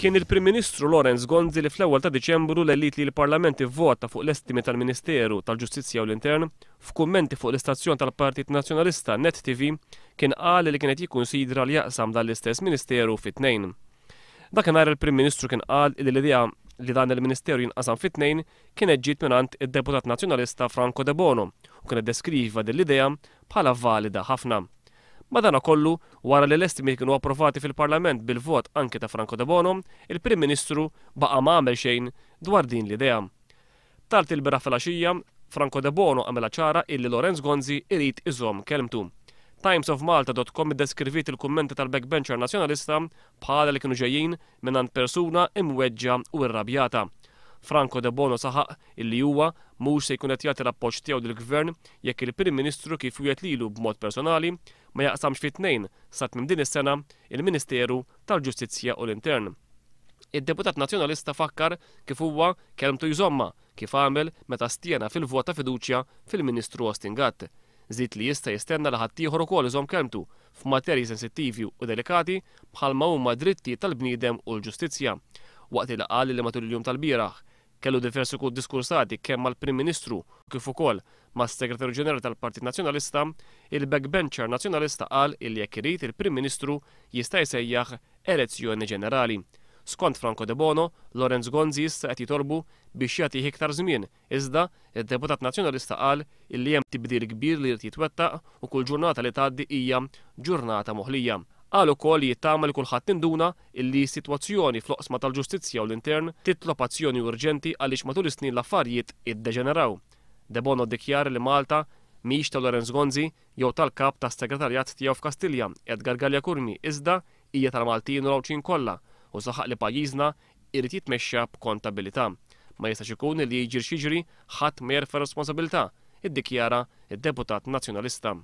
Kien il-Prim Ministru Lawrence Gonzi li fl-ewwel ta' Diċembru lellit li l-Parlament ivvota fuq l-estimi tal-Ministeru tal-Ġustizzja u l-Intern. F'kummenti fuq l-istazzjon tal-Partit Nazzjonalista Net TV kien qal li kien qed jikkunsidra li jaqsam dan l-istess Ministeru fi tnejn. Dakinhar il-Prim Ministru kien qal li l-idea li dan il-Ministeru jinqasam fi tnejn kienet ġiet mingħand id-Deputat Nazzjonalista Franco Debono u kien iddeskriva din l-idea bħala valida ħafna. Madanakollu, wara li l-estimi kienu approvati fil-Parlament bil-vot anki ta' Franco Debono, il-Prim Ministru baqa' ma għamel xejn dwar din l-idea. Tard ilbieraħ filgħaxija, Franco Debono għamilha ċara illi Lawrence Gonzi irid iżomm kelmtu. Timesofmalta.com iddeskriviet il-kummenti tal-backbencher Nazzjonalista bħala li kienu ġejjin mingħand persuna imweġġa' u rrabjata. Franco Debono saħaq illi huwa mhux se jkun qed jagħti l-appoġġ tiegħu lill-Gvern jekk il-Prim Ministru kif wiegħed lilu b'mod personali ma jaqsamx fi tnejn sa tmiem din is-sena il-Ministeru tal-Ġustizzja u l-Intern. Id-deputat Nazzjonalista fakkar kif huwa kelmtu jżommha kif għamel meta stjena fil-vot ta' fiduċja fil-Ministru Austin Gatt. Żied li jista' jistenna li ħaddieħor ukoll iżomm kelmtu f'materji sensittivi u delikati bħalma huma d-drittijiet tal-bniedem u l-ġustizzja. Waqt li qal li matul il-jum tal-bieraħ kellu diversi diskursati kemm mal-Prim Ministru kif ukoll mas-Segretarju Ġenerali tal-Partit Nazzjonalista, il-backbencher Nazzjonalista qal illi jekk irid il-Prim Ministru jista' jsejjaħ elezzjoni ġenerali. Skont Franco Debono, Lawrence Gonzi issa qed jitolbu biex jagħtih iktar żmien. Iżda, id-deputat Nazzjonalista qal illi hemm tibdil kbir li jrid jitwettaq u kull ġurnata li tgħaddi hija ġurnata moħlija. Qal ukoll li jittama li kulħadd induna illi s-sitwazzjoni fl-oqsma tal-ġustizzja u l-intern titlob azzjoni urġenti għaliex matul is-snin l-affarijiet iddeġeneraw. Debono ddikjara li Malta mhix ta' Lawrence Gonzi jew tal-kap tas-segretarjat tiegħu f'Kastilja, Edgar Galea Curmi, iżda hija tal-Maltin u l-Għawdxin kollha u saħaq li pajjiżna irid jitmexxa b'kontabilità. Ma jistax ikun li jiġri x'jiġri ħadd ma jerfa' responsabilità, iddikjara d-deputat Nazzjonalista.